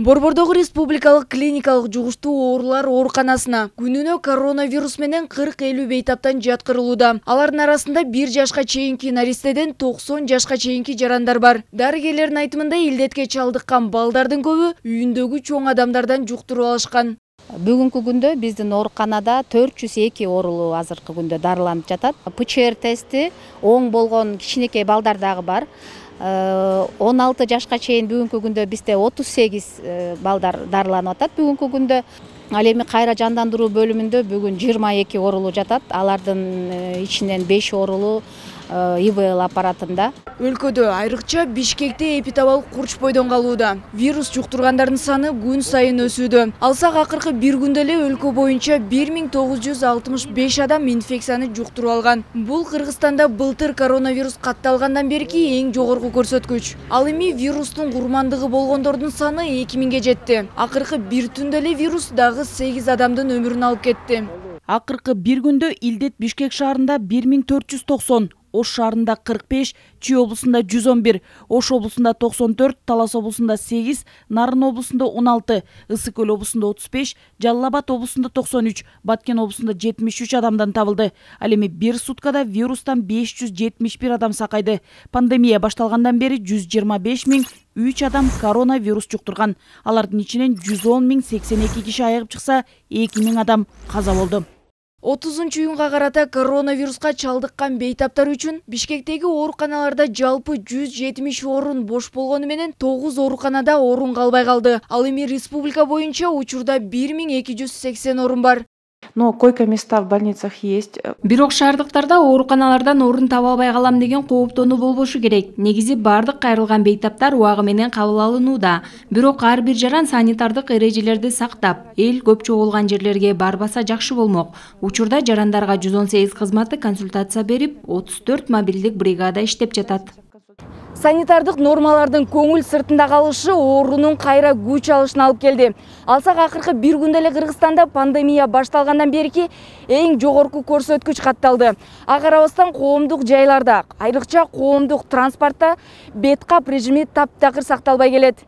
Борбордогу республикалык клиникалык жугуштуу оорулар ооруканасына күнүнө коронавирус менен 40-50 бейтаптан жаткырылууда. Алардын арасында 1 жашка чейинки наристеден 90 жашка чейинки жарандар бар. Дарыгерлердин айтымында илдетке чалдыккан балдардын көбү үйүндөгү чоң адамдардан жуктуруп алышкан. Бүгүнкү күндө биздин ооруканада 402 оорулуу азыркы күндө дарыланып жатат. ПЧР тести оң болгон кичинекей балдар дагы бар. 16 жашка чейин бүгүнкү күндө бизде 38 балдар дарыланып атат бүгүнкү күндө. Ал эми кайра жандандыруу бөлүмүндө бүгүн 22 оорулуу жатат. Алардын ичинен 5 оорулуу ИВЛ аппаратында. Өлкөдө айрыкча Бишкекте эпидемиялык курч бойдон калууда. Вирус жуктургандардын саны күн сайын өсүүдө. Алсак акыркы бир күндө эле өлкө боюнча 1965 адам инфекцияны жуктуруп алган. Бул Кыргызстанда былтыр коронавирус катталгандан берки эң жогорку көрсөткүч. Ал эми вирустун курмандыгы болгондордун саны 2000ге жетти. Акыркы бир түндө эле вирус дагы 8 адамдын өмүрүн алып кетти. Акыркы бир күндө илдет Бишкек шаарында 1490, Ош шаарында 45, Чүй облусунда 111, Ош облусунда 94, Талас облусунда 8, Нарын облусунда 16, Ысык Көл облусунда 35, Жалал Абад облусунда 93, Баткен облусунда 73 адамдан табылды. Ал эми бир суткада вирустан 571 адам сакайды. Пандемия башталгандан бери 125.003 адам коронавирус жуктурган. Алардын ичинен 110.082 киши айыгып чыкса, 2000 адам каза болду. 30-июнга карата коронавируска чалдыккан бейтаптар үчүн Бишкектеги ооруканаларда жалпы 170 орун бош болгону менен 9 ооруканада орун калбай калды. Ал эми республика боюнча учурда 1280 орун бар. Но койко-места в больницах есть. Бирок шаардыктарда ооруканалардан орун таба албай калам деген кооптонуу болбошу керек. Негизи бардык кайрылган бейтаптар убагы менен кабыл алынууда. Бирок ар бир жаран санитардык эрежелерди сактап, эл көп чогулган жерлерге барбаса жакшы болмок. Учурда жарандарга 118 кызматы консультация берип, 34 мобилдик бригада иштеп жатат. Санитардык нормалардын көңүл сыртында калышы оорунун кайра күч алышына алып келди. Алсак акыркы бир күндө эле Кыргызстанда пандемия башталгандан берки эң жогорку көрсөткүч катталды. Ага карабастан коомдук жайларда, айрыкча коомдук транспортто бет кап режими таптакыр сакталбай келет.